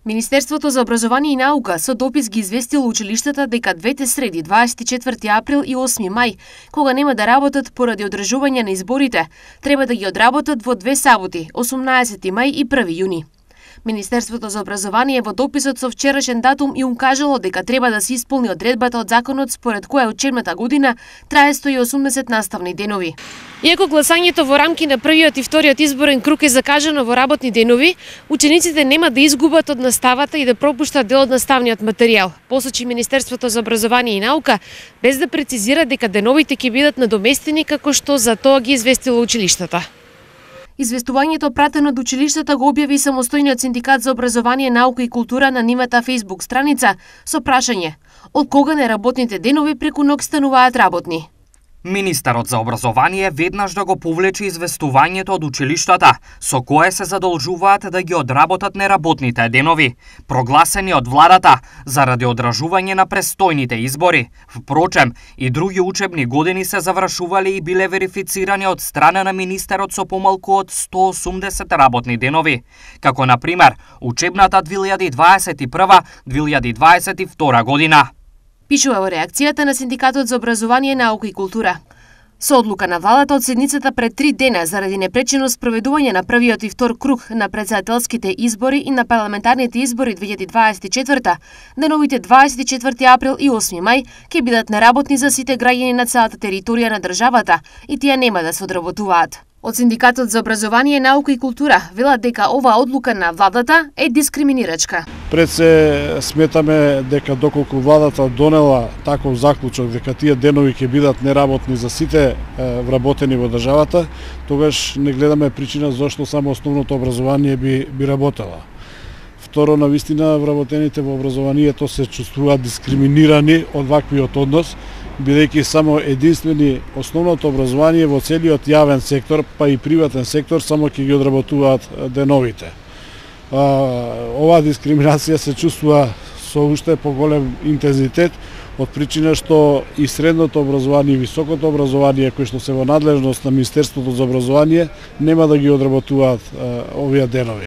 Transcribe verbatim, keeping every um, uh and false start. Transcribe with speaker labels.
Speaker 1: Министерството за образование и наука со допис ги известило училиштата дека двете среди, дваесет и четврти април и осми мај, кога нема да работат поради одржување на изборите, треба да ги одработат во две саботи, осумнаесети мај и први јуни. Министерството за образование во дописот со вчерашен датум и укажало дека треба да се исполни одредбата од законот според која учебната година трае сто и осумдесет наставни денови. Иако гласањето во рамки на првиот и вториот изборен круг е закажано во работни денови, учениците нема да изгубат од наставата и да пропуштат дел од наставниот материјал, посочи Министерството за образование и наука, без да прецизира дека деновите ќе бидат надоместени како што за тоа ги известило училиштата. Известувањето пратено од училиштата го објави самостојниот синдикат за образование, наука и култура на нивната Facebook страница со прашање: од кога неработните денови преку ноќ стануваат работни?
Speaker 2: Министерот за образование веднаш да го повлече известувањето од училиштата, со кое се задолжуваат да ги одработат неработните денови, прогласени од владата заради одржување на престојните избори. Впрочем, и други учебни години се завршувале и биле верифицирани од страна на министерот со помалку од сто и осумдесет работни денови, како на пример учебната две илјади и дваесет и прва - две илјади и дваесет и втора година.
Speaker 1: Пишува во реакцијата на Синдикатот за образование, наука и култура. Со одлука на владата од седницата пред три дена заради непречено спроведување на првиот и втор круг на претседателските избори и на парламентарните избори две илјади дваесет и четврта, деновите дваесет и четврти април и осми мај ќе бидат неработни за сите граѓани на целата територија на државата и тие нема да се одработуваат. Од Синдикатот за образование, наука и култура велат дека оваа одлука на владата е дискриминирачка.
Speaker 3: Пред се сметаме дека доколку владата донела таков заклучок дека тие денови ќе бидат неработни за сите вработени во државата, тогаш не гледаме причина зошто само основното образование би би работела. Второ, на вистина вработените во образованието се чувствуваат дискриминирани од ваквиот однос, бидејќи само единствени основното образование во целиот јавен сектор, па и приватен сектор, само ќе ги одработуваат деновите. Оваа дискриминација се чувствува со уште поголем интензитет од причина што и средното образование и високото образование кои што се во надлежност на Министерството за образование нема да ги одработуваат овие денови.